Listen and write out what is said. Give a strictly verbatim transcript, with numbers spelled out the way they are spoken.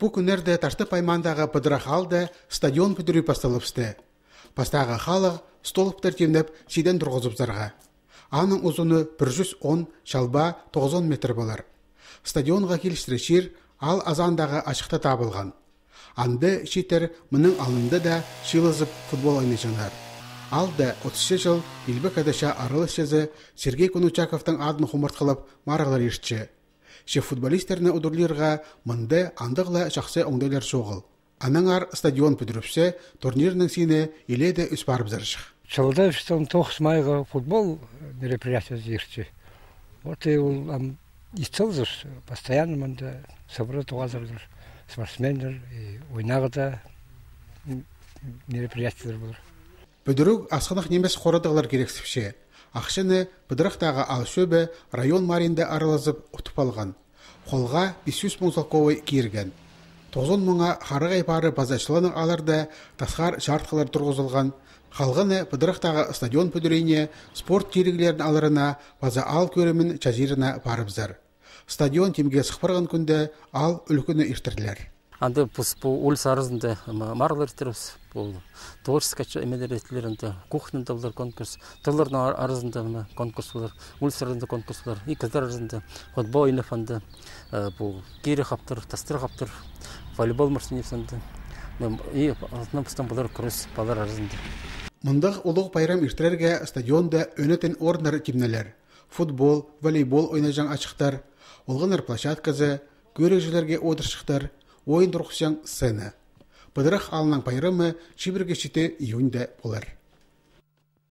Бу күннәрдә Ташты паймандагы Пыдырахалда стадион бүтүрү басталыпсты. Пастагы халык столыптар темнеп сиден тургызып зарга. Аның узуны бер йөз он, шалба тогуз метр булар. Стадионга килиштеришир ал азандагы ачыкта табылган. Анды шитер мының алынды да шилызып футбол ойнашанар. Алда отуз жыл Илбек Адаша арылышызы Сергей Конучаковтың адын хумарткылып маралар ешчі. Шеф футболистерны удурлирға мынды андығла шақсы оңдайлар шоғыл. Анаңар стадион бүдіріпсе, турнирның сине иледе үс барып зарышық. Чалда үстен тоғыз майға футбол мероприятия зерчі. Вот и он исцелзыр, постоянно мында собрать туғазырдыр. Спортсмендер, ойнағыда мероприятиялар болыр. Бүдіруг асқынақ немес қорадығылар керексіпше. Ақшыны Пыдырақтағы Алшөбі район маринді аралазып ұтып алған. Қолға бес жүз мың солковой киірген. тоғыз мыңға қарығай бары базашылының аларда тасқар жартқылар тұрғызылған. Қалғаны Пыдырақтағы стадион бүдірейне спорт терігілерін аларына база ал көрімін чазирына барыбзар. Стадион темге сықпырған күнде ал үлкіні иштірділер. Анды по улице арызында марлар терус, по творческой эмелеретлерінде, кухнында булар конкурс, тылларның арызында конкурс булар, улице арызында конкурс булар, и кыздар арызында футбол ойнап анды, по кире хаптыр, тастыр хаптыр, волейбол марсыневсанды, и алтын пустан булар кросс балар арызында. Мындық улуг байрам иштирерге стадионда өнетен орындар кимнелер. Футбол, волейбол ойнажан ачыктар, олғынар площадкасы, көрекжілерге одыршықтар, ойын тұрғысян сцена. Пыдырах алынан пайрамы шибірге шите июньде болар.